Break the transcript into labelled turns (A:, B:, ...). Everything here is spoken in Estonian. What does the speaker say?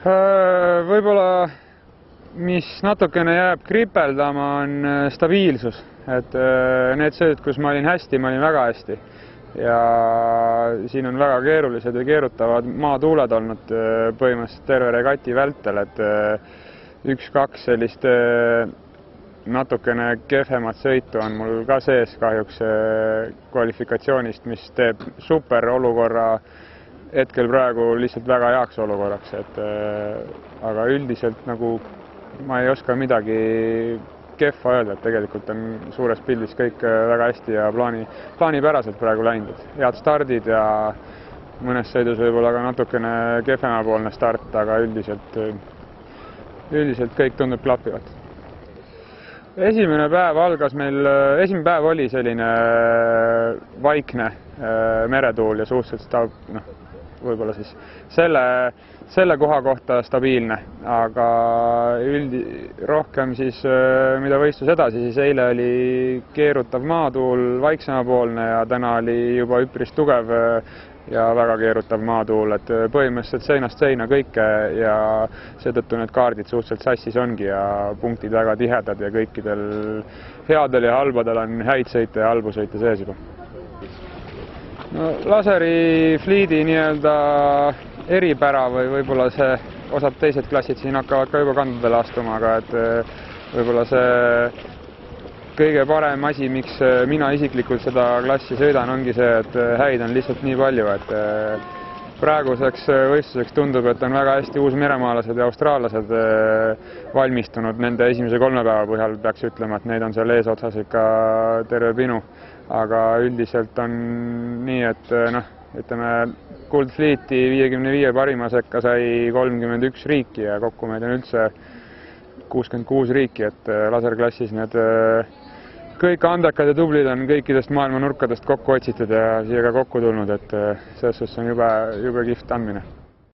A: Võib-olla, mis natukene jääb kripeldama, on stabiilsus, et need sööd, kus ma olin hästi, ma olin väga hästi ja siin on väga keerulised ja keerutavad maatuuled olnud põhimõtteliselt terve regati vältel, et üks-kaks sellist natukene kehvemat sõitu on mul ka sees kahjuks kvalifikatsioonist, mis teeb super olukorra hetkel praegu lihtsalt väga heaks olukorraks, et aga üldiselt nagu ma ei oska midagi kehva öelda, et tegelikult on suures pildis kõik väga hästi ja plaanipäraselt praegu läinud. Head stardid ja mõnes sõidus võib-olla ka natukene kehvemapoolne start, aga üldiselt kõik tundub klappivat. Esimene päev oli selline vaikne meretuul ja suhteliselt võib-olla siis selle koha kohta stabiilne, aga rohkem siis, mida võistlus edasi, siis eile oli keerutav maatuul vaiksemapoolne ja täna oli juba üpris tugev ja väga keerutav maatuul, et põhimõtteliselt seinast seina kõike ja seetõttu need kaardid suhteliselt sassis ongi ja punktid väga tihedad ja kõikidel headel ja halbadel on häid sõite ja halbu sõite sees juba. No, laseri fliidi nii-öelda eripära või võib-olla see osad teised klassid siin hakkavad ka juba kandadele astuma, aga et võib-olla see kõige parem asi, miks mina isiklikult seda klassi sõidan, ongi see, et häid on lihtsalt nii palju, et praeguseks võistluseks tundub, et on väga hästi uusmeremaalased ja austraallased valmistunud nende esimese 3 päeva põhjal, peaks ütlema, et neid on seal eesotsas ikka terve pinu. Aga üldiselt on nii, et ütleme, kuldfliiti 55 parima sekka sai 31 riiki ja kokku meid on üldse 66 riiki, et laserklassis need kõik andekad ja tublid on kõikidest maailma nurkadest kokku otsitud ja siia ka kokku tulnud, et selles suhtes on jube kihvt andmine.